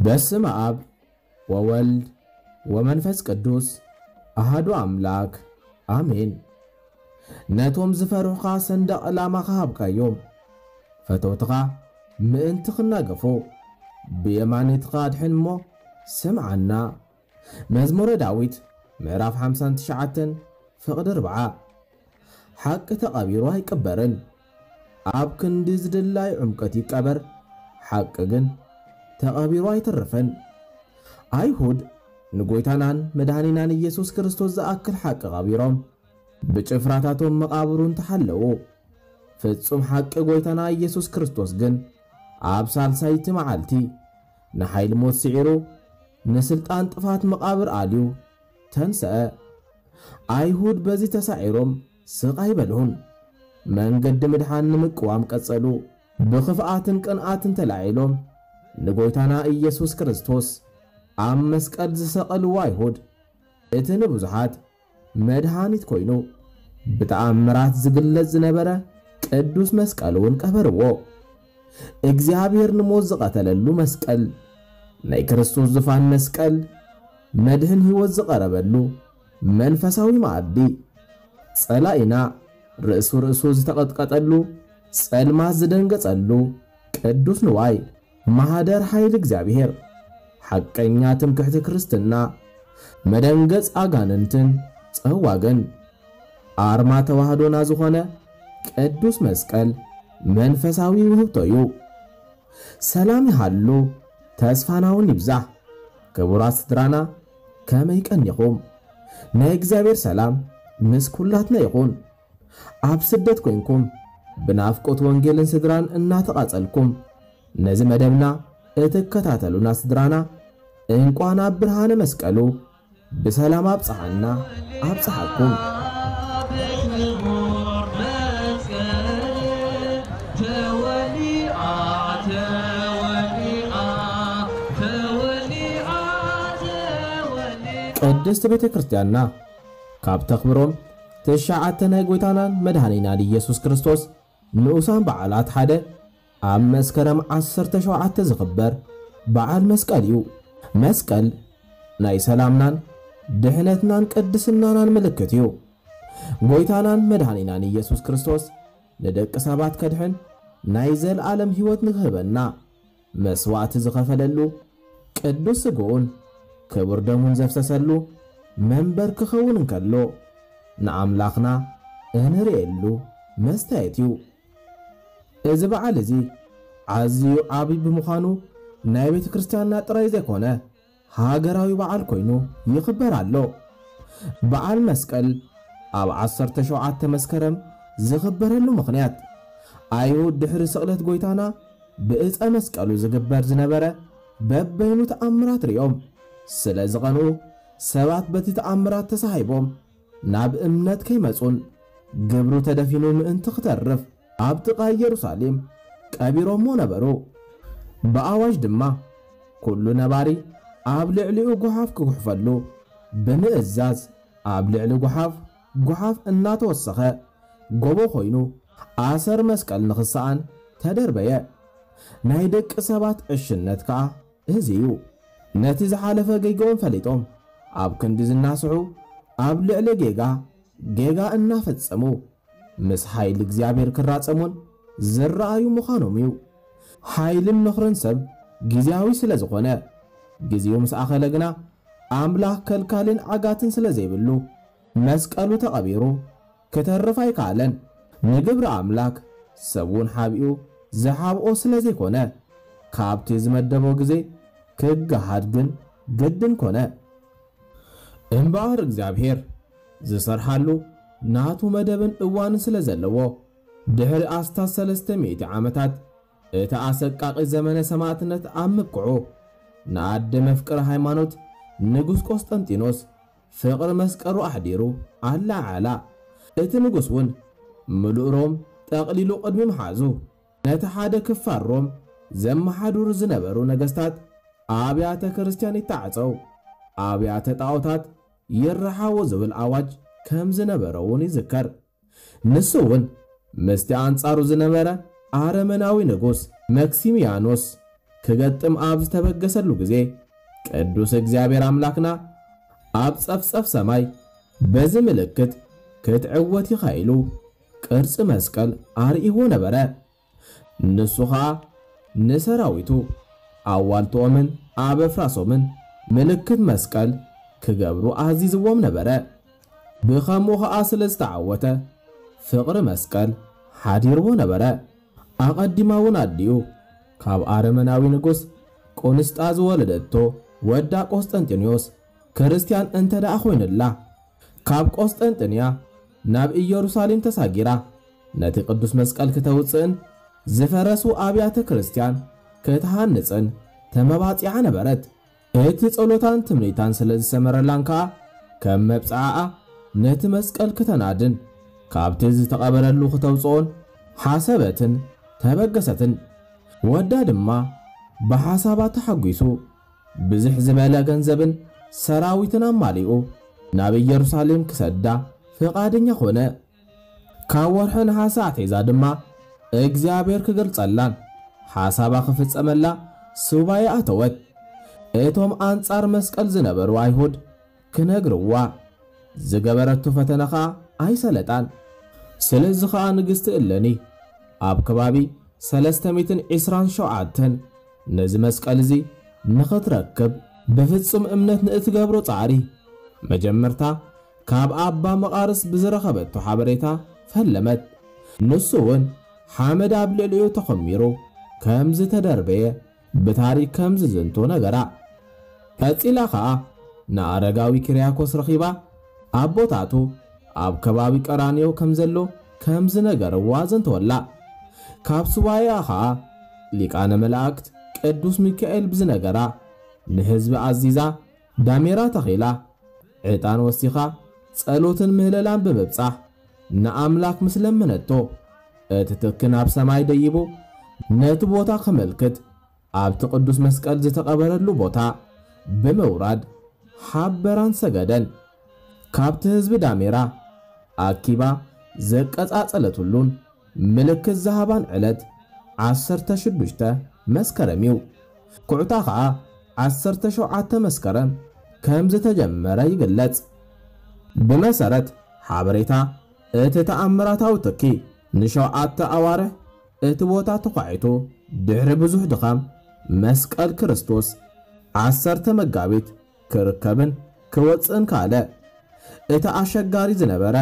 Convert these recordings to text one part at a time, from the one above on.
በስመ አብ ወወልድ ወመንፈስ ቅዱስ አሃዱ አምላክ አሜን። ነቶም ዝፈርሑኻ ሰንደቕ ዕላማኻ ሃብካዮም። ፈተውትኻ ምእንቲ ክናገፉ ብየማኒትኻ ኣድሕን እሞ ስምዓና። መዝሙረ ዳዊት ምዕራፍ ሓምሳን ትሽዓተን ፍቕዲ ኣርብዓ። ሓቂ ተቐቢሩ ኣይቅበርን። ኣብ ክንዲ ዝድላይ ዕምቀት ይቀበር፣ ሓቂ ግን ተቐቢሩ ኣይተርፍን። ኣይሁድ ንጎይታናን መድኃኒናን ኢየሱስ ክርስቶስ ዝኣክል ሓቂ ቀቢሮም፣ ብጭፍራታቶም መቓብሩ እንተሓለዉ፣ ፍጹም ሓቂ ጎይታና ኢየሱስ ክርስቶስ ግን ኣብ ሳልሳይቲ መዓልቲ ንሓይሊ ሞት ስዒሩ፣ ንስልጣን ጥፋት መቓብር ኣልዩ ተንሰአ። ኣይሁድ በዚ ተሳዒሮም ስቕ ኣይበልሁን። መንገዲ ምድሓን ንምቅዋም ቀጸሉ። ብኽፍኣትን ቅንኣትን ተላዒሎም ንጎይታና ኢየሱስ ክርስቶስ ኣብ መስቀል ዝሰቐልዎ ኣይሁድ፣ እቲ ንብዙሓት መድሃኒት ኮይኑ ብተኣምራት ዝግለጽ ዝነበረ ቅዱስ መስቀል እውን ቀበርዎ። እግዚኣብሔር ንሞት ዝቐተለሉ መስቀል፣ ናይ ክርስቶስ ዙፋን መስቀል፣ መድህን ሕይወት ዝቐረበሉ መንፈሳዊ መኣዲ፣ ጸላኢና ርእሱ ርእሱ ዝተቐጥቀጠሉ፣ ጸልማት ዝደንገጸሉ ቅዱስ ንዋይ፣ ማህደር ሓይሊ እግዚኣብሔር፣ ሓቀኛ ትምክሕቲ ክርስትና፣ መደንገጽ ኣጋንንትን ጸዋግን ኣርማ ተዋህዶና ዝኾነ ቅዱስ መስቀል መንፈሳዊ ውህብቶ እዩ። ሰላም ይሃሉ፣ ተስፋና እውን ይብዛሕ። ክቡራት ስድራና፣ ከመይ ቀኒኹም? ናይ እግዚኣብሔር ሰላም ምስ ኩላትና ይኹን። ኣብ ስደት ኮይንኩም ብናፍቆት ወንጌልን ስድራን እናተቓጸልኩም ነዚ መደብና እትከታተሉና ስድራና፣ እንቋን ኣብ ብርሃነ መስቀሉ ብሰላም ኣብጽሓና ኣብጽሓኩም። ቅድስት ቤተ ክርስቲያንና ካብ ተኽብሮም ትሽዓተ ናይ ጎይታናን መድኃኒናን ኢየሱስ ክርስቶስ ንኡሳን በዓላት ሓደ ኣብ መስከረም ዓሰርተ ሸውዓተ ዝኽበር በዓል መስቀል እዩ። መስቀል ናይ ሰላምናን ድሕነትናን ቅድስናናን ምልክት እዩ። ጎይታናን መድኃኒናን ኢየሱስ ክርስቶስ ንደቂ ሰባት ከድሕን ናይ ዘለዓለም ሕይወት ንክህበና መስዋዕቲ ዝኸፈለሉ ቅዱስ ስግኡን ክቡር ደሙን ዘፍሰሰሉ መንበር ክኸውን እንከሎ፣ ንኣምላኽና እንርእየሉ መስተየት እዩ። እዚ በዓል እዚ ኣዝዩ ዓቢ ብምዃኑ፣ ናይ ቤተ ክርስቲያንና ጥራይ ዘይኮነ፣ ሃገራዊ በዓል ኮይኑ ይኽበር ኣሎ። በዓል መስቀል ኣብ ዓሰርተ ሸውዓተ መስከረም ዝኽበረሉ ምኽንያት፣ ኣይሁድ ድሕሪ ስቕለት ጎይታና ብእፀ መስቀሉ ዝግበር ዝነበረ በበይኑ ተኣምራት ርእዮም ስለ ዝቐንኡ፣ ሰባት በቲ ተኣምራት ተሳሂቦም ናብ እምነት ከይመጹን ግብሩ ተደፊኑ ምእንቲ ክተርፍ ኣብ ጥቓ ኢየሩሳሌም ቀቢሮሞ ነበሩ። ብኣዋጅ ድማ ኩሉ ነባሪ ኣብ ልዕሊኡ ጓሓፍ ክጉሕፈሉ ብምእዛዝ፣ ኣብ ልዕሊ ጓሓፍ ጓሓፍ እናተወሰኸ ጎቦ ኮይኑ ኣሰር መስቀል ንኽሰኣን ተደርበየ። ናይ ደቂ ሰባት ዕሽነት ከኣ እዚ እዩ። ነቲ ዝሓለፈ ጌጋኦም ፈሊጦም ኣብ ክንዲ ዝናስሑ፣ ኣብ ልዕሊ ጌጋ ጌጋ እናፈጸሙ ምስ ሓይሊ እግዚኣብሔር ክራጸሙን ዝረኣዩ ምዃኖም እዩ። ሓይልን ምኽርን ሰብ ግዜያዊ ስለ ዝኾነ፣ ግዜኡ ምስ ኣኸለ ግና ኣምላኽ ከልካልን ዓጋትን ስለ ዘይብሉ፣ መስቀሉ ተቐቢሩ ክተርፍ ኣይከኣለን። ንግብሪ ኣምላክ ሰብ እውን ሓቢኡ ዝሓብኦ ስለ ዘይኮነ፣ ካብቲ ዝመደቦ ግዜ ክገሃድ ግን ግድን ኮነ። እምበኣር እግዚኣብሔር ዝሰርሓሉ ናቱ መደብን እዋንን ስለ ዘለዎ፣ ድሕሪ ኣስታት ሰለስተ ሚእቲ ዓመታት እቲ ኣሰቃቂ ዘመነ ሰማዕትነት ኣብ ምብቅዑ፣ ንኣደ መፍቅሪ ሃይማኖት ንጉስ ቆስጠንጢኖስ ፍቕሪ መስቀሉ ኣሕዲሩ ኣለዓዕላ። እቲ ንጉስ እውን ምሉእ ሮም ጠቕሊሉ ቅድሚ ምሓዙ፣ ነቲ ሓደ ክፋል ሮም ዘመሓድሩ ዝነበሩ ነገስታት ኣብያተ ክርስቲያን ይተዓጸው፣ ኣብያተ ጣዖታት ይረሓዎ ዝብል ኣዋጅ ከም ዝነበረ እውን ይዝከር። ንሱ እውን ምስቲ ኣንጻሩ ዝነበረ ኣረመናዊ ንጉስ መክሲሚያኖስ ክገጥም ኣብ ዝተበገሰሉ ግዜ፣ ቅዱስ እግዚኣብሔር ኣምላኽና ኣብ ጸፍጸፍ ሰማይ በዚ ምልክት ክትዕወት ኢኻ ኢሉ ቅርጺ መስቀል ኣርእይዎ ነበረ። ንሱ ኸኣ ንሰራዊቱ ኣዋልትኦምን ኣበፍራሶምን ምልክት መስቀል ክገብሩ ኣዚዝዎም ነበረ። ብኸምኡ ኸኣ ስለ ዝተዓወተ ፍቕሪ መስቀል ሓዲርዎ ነበረ። ኣቐዲማ እውን ኣዲኡ ካብ ኣረመናዊ ንጉስ ቁንስጣ ዝወለደቶ ወዳ ቆስጠንጢኖስ ክርስትያን እንተ ደኣ ኮይኑላ፣ ካብ ቆስጠንጥንያ ናብ ኢየሩሳሌም ተሳጊራ ነቲ ቅዱስ መስቀል ክተውጽእን ዝፈረሱ ኣብያተ ክርስትያን ክትሃንጽን ተመባጺዓ ነበረት። እቲ ጸሎታን ትምኒታን ስለ ዝሰመረላን ከኣ፣ ከም መብጽዓኣ ነቲ መስቀል ክተናድን ካብቲ ዝተቐበረሉ ክተውጽኦን ሓሰበትን ተበገሰትን። ወዳ ድማ ብሓሳባ ተሓጒሱ፣ ብዝሕ ዝበለ ገንዘብን ሰራዊትን ኣማሊኡ ናብ ኢየሩሳሌም ክሰዳ ፍቓደኛ ኾነ። ካብ ወርሒ ነሓሰ ኣትሒዛ ድማ እግዚኣብሔር ክገልጸላን ሓሳባ ክፍጸመላ ሱባኤ ኣተወት። እቶም ኣንጻር መስቀል ዝነበሩ ኣይሁድ ክነግርዋ ዝገበረቶ ፈተነ ኸኣ ኣይሰለጣን። ስለዚ ኸኣ ንግስቲ እለኒ ኣብ ከባቢ ሰለስተ ሚእትን ዕስራን ሸውዓተን ነዚ መስቀል እዚ ንኽትረክብ ብፍጹም እምነት ንእትገብሮ ጻዕሪ፣ መጀመርታ ካብ ኣባ መቓርስ ብዝረኸበቶ ሓበሬታ ፈለመት። ንሱ እውን ሓመድ ኣብ ልዕሊኡ ተኾሚሩ ከም ዝተደርበየ ብታሪክ ከም ዝዝንቶ ነገራ። ቀጺላ ኸኣ ንኣረጋዊ ኪርያኮስ ረኺባ ኣቦታቱ ኣብ ከባቢ ቀራንዮ ከም ዘሎ ከም ዝነገርዋ ዘንተወላ። ካብ ሱባኤኣ ኸኣ ሊቃነ መላእክት ቅዱስ ሚካኤል ብዝነገራ ንህዝቢ ኣዚዛ ዳሜራ ተኺላ ዕጣን ወሲኻ ጸሎትን ምህለላን ብምብጻሕ ንኣምላኽ ምስ ለመነቶ፣ እቲ ትኪ ናብ ሰማይ ደይቡ ነቲ ቦታ ከመልክት ኣብቲ ቅዱስ መስቀል ዝተቐበረሉ ቦታ ብምውራድ ሓበራን ሰገደን። ካብቲ ህዝቢ ዳሜራ ኣኪባ ዘቀጻጸለትሉን ምልክት ዝሃባን ዕለት ዓሰርተ ሽዱሽተ መስከረም እዩ። ኩዕታ ኸኣ ዓሰርተ ሸውዓተ መስከረም ከም ዝተጀመረ ይግለጽ። ብመሰረት ሓበሬታ እቲ ተኣምራታዊ ትኪ ንሸውዓተ ኣዋርሕ እቲ ቦታ ተዃዒቱ ድሕሪ ብዙሕ ድኻም መስቀል ክርስቶስ ዓሰርተ መጋቢት ክርከብን ክወጽእን ካለ። እቲ ኣሸጋሪ ዝነበረ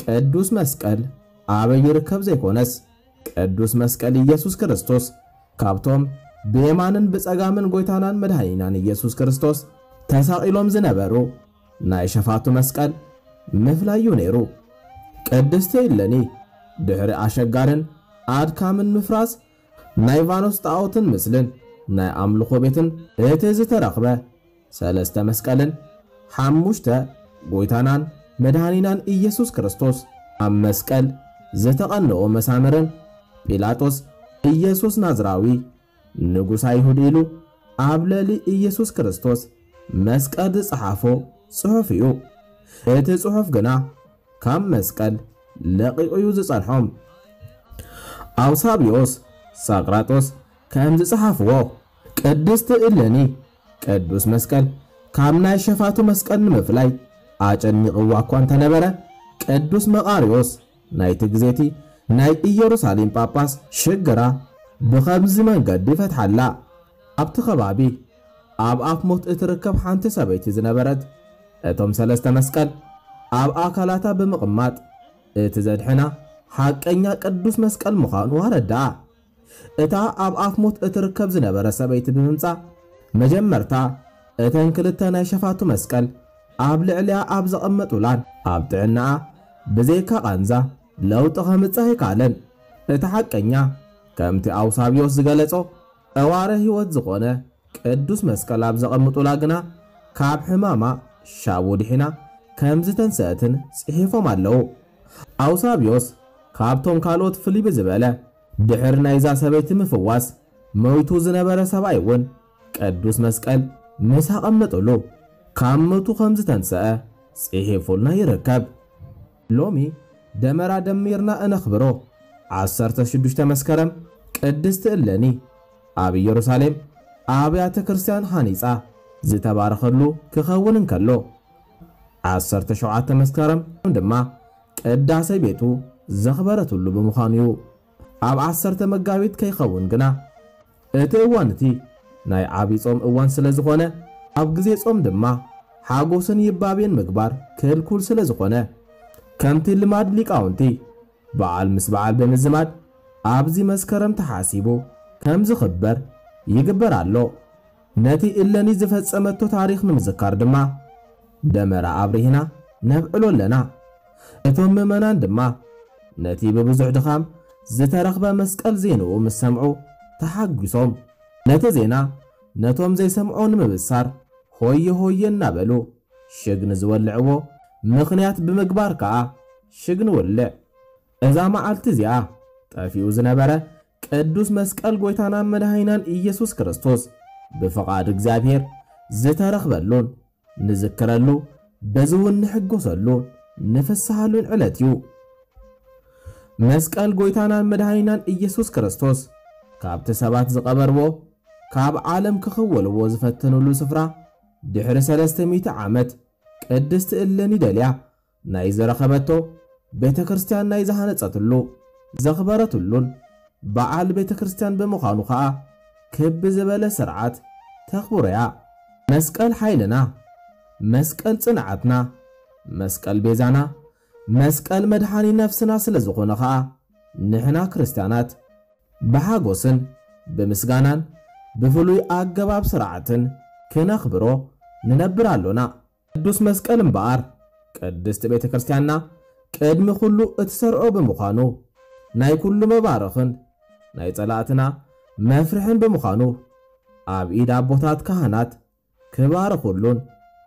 ቅዱስ መስቀል ኣበይ ይርከብ ዘይኮነስ፣ ቅዱስ መስቀል ኢየሱስ ክርስቶስ ካብቶም ብየማንን ብጸጋምን ጎይታናን መድኃኒናን ኢየሱስ ክርስቶስ ተሳቒሎም ዝነበሩ ናይ ሸፋቱ መስቀል ምፍላይ እዩ ነይሩ። ቅድስቲ እለኒ ድሕሪ ኣሸጋርን ኣድካምን ምፍራስ ናይ ቫኖስ ጣዖትን ምስልን ናይ ኣምልኾ ቤትን እቲ ዝተረኽበ ሰለስተ መስቀልን ሓሙሽተ ጎይታናን መድኃኒናን ኢየሱስ ክርስቶስ ኣብ መስቀል ዝተቐንኦ መሳምርን ጲላጦስ ኢየሱስ ናዝራዊ ንጉስ ኣይሁድ ኢሉ ኣብ ልዕሊ ኢየሱስ ክርስቶስ መስቀል ዝጸሓፎ ጽሑፍ እዩ። እቲ ጽሑፍ ግና ካብ መስቀል ለቒቑ እዩ ዝጸንሖም። ኣውሳብዮስ ሳቅራጦስ ከም ዝጸሓፍዎ፣ ቅድስቲ እለኒ ቅዱስ መስቀል ካብ ናይ ሸፋቱ መስቀል ንምፍላይ ኣጨኒቕዋ እኳ እንተነበረ፣ ቅዱስ መቓርዮስ ናይቲ ግዜቲ ናይ ኢየሩሳሌም ጳጳስ ሽግራ ብኸምዚ መንገዲ ፈትሓላ። ኣብቲ ከባቢ ኣብ ኣፍ ሞት እትርከብ ሓንቲ ሰበይቲ ዝነበረት፣ እቶም ሰለስተ መስቀል ኣብ ኣካላታ ብምቕማጥ እቲ ዘድሕና ሓቀኛ ቅዱስ መስቀል ምዃኑ ኣረድኣ። እታ ኣብ ኣፍ ሞት እትርከብ ዝነበረ ሰበይቲ ብምምጻእ፣ መጀመርታ እተን ክልተ ናይ ሸፋቱ መስቀል ኣብ ልዕሊያ ኣብ ዘቐመጡላን ኣብ ጥዕናኣ ብዘይካ ቃንዛ ለውጢ ከምጽእ ኣይከኣለን። እቲ ሓቀኛ፣ ከምቲ ኣውሳብዮስ ዝገለጾ፣ ጠዋረ ህይወት ዝኾነ ቅዱስ መስቀል ኣብ ዘቐምጡላ ግና ካብ ሕማማ ሻቡ ድሒና ከም ዝተንስአትን ጽሒፎም ኣለዉ። ኣውሳብዮስ ካብቶም ካልኦት ፍልይ ብዝበለ ድሕሪ ናይዛ ሰበይቲ ምፍዋስ ሞይቱ ዝነበረ ሰብኣይ እውን ቅዱስ መስቀል ምስ ኣቐመጠሉ ካብ ሞቱ ከም ዝተንስአ ጽሒፉልና ይርከብ። ሎሚ ደመራ ደሚርና እነኽብሮ ዓሰርተ ሽዱሽተ መስከረም ቅድስቲ እለኒ ኣብ ኢየሩሳሌም ኣብያተ ክርስቲያን ሃኒጻ ዝተባረኸሉ ክኸውን እንከሎ፣ ዓሰርተ ሸውዓተ መስከረም ድማ ቅዳሴ ቤቱ ዘኽበረትሉ ብምዃኑ እዩ። ኣብ ዓሰርተ መጋቢት ከይኸውን ግና እቲ እዋን እቲ ናይ ዓቢ ጾም እዋን ስለ ዝኾነ፣ ኣብ ግዜ ጾም ድማ ሓጎስን ይባቤን ምግባር ክልኩል ስለ ዝኾነ፣ ከምቲ ልማድ ሊቃውንቲ በዓል ምስ በዓል ብምዝማድ ኣብዚ መስከረም ተሓሲቡ ከም ዝኽበር ይግበር ኣሎ። ነቲ እለኒ ዝፈጸመቶ ታሪኽ ንምዝካር ድማ ደመራ ኣብሪህና ነብዕሎ ኣለና። እቶም ምእመናን ድማ ነቲ ብብዙሕ ድኻም ዝተረኽበ መስቀል ዜንኡ ምስ ሰምዑ ተሓጒሶም፣ ነቲ ዜና ነቶም ዘይሰምዑ ንምብሳር ሆየ ሆየ እናበሉ ሽግ ንዝወልዕዎ ምኽንያት ብምግባር ከኣ ሽግ ንውልዕ። እዛ መዓልቲ እዚኣ ጠፊኡ ዝነበረ ቅዱስ መስቀል ጎይታናን መድኃኒናን ኢየሱስ ክርስቶስ ብፍቓድ እግዚኣብሔር ዝተረኽበሉን ንዝክረሉ፣ በዚ እውን ንሕጎሰሉ ንፍስሃሉን ዕለት እዩ። መስቀል ጎይታናን መድኃኒናን ኢየሱስ ክርስቶስ ካብቲ ሰባት ዝቐበርዎ፣ ካብ ዓለም ክኽወልዎ ዝፈተኑሉ ስፍራ ድሕሪ ሰለስተ ሚእቲ ዓመት ቅድስቲ እለኒ ደልያ ናይ ዝረኸበቶ፣ ቤተ ክርስቲያን ናይ ዝሃነጸትሉ፣ ዘኽበረትሉን በዓል ቤተ ክርስቲያን ብምዃኑ ኸኣ ክብ ዝበለ ስርዓት ተኽብሮያ። መስቀል ሓይልና፣ መስቀል ጽንዓትና፣ መስቀል ቤዛና፣ መስቀል መድኃኒ ነፍስና ስለ ዝኾነ ኸኣ ንሕና ክርስቲያናት ብሓጎስን ብምስጋናን ብፍሉይ ኣገባብ ስርዓትን ክነኽብሮ ንነብር ኣሎና። ቅዱስ መስቀል እምበኣር ቅድስቲ ቤተ ክርስቲያንና ቅድሚ ኩሉ እትሰርዖ ብምዃኑ፣ ናይ ኩሉ መባረኽን ናይ ጸላእትና መፍርሕን ብምዃኑ፣ ኣብ ኢድ ኣቦታት ካህናት ክባርኹሉን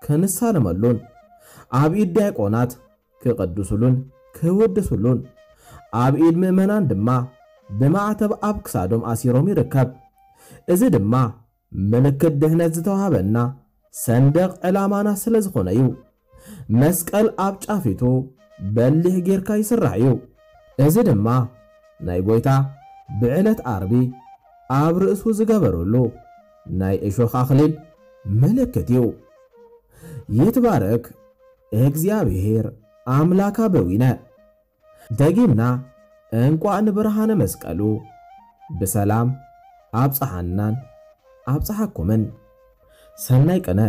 ክንሳለመሉን፣ ኣብ ኢድ ዲያቆናት ክቅድሱሉን ክውድሱሉን፣ ኣብ ኢድ ምእመናን ድማ ብማዕተብ ኣብ ክሳዶም ኣሲሮም ይርከብ። እዚ ድማ ምልክት ድሕነት ዝተዋህበና ሰንደቕ ዕላማና ስለ ዝኾነ እዩ። መስቀል ኣብ ጫፊቱ በሊሕ ጌርካ ይስራሕ እዩ። እዚ ድማ ናይ ጎይታ ብዕለት ዓርቢ ኣብ ርእሱ ዝገበረሉ ናይ እሾኽ ኣኽሊል ምልክት እዩ። ይትባረክ እግዚኣብሔር ኣምላካ በዊነ። ደጊምና እንቋዕ ንብርሃነ መስቀሉ ብሰላም ኣብጽሓናን ኣብጽሓኩምን። ሰናይ ቅነ።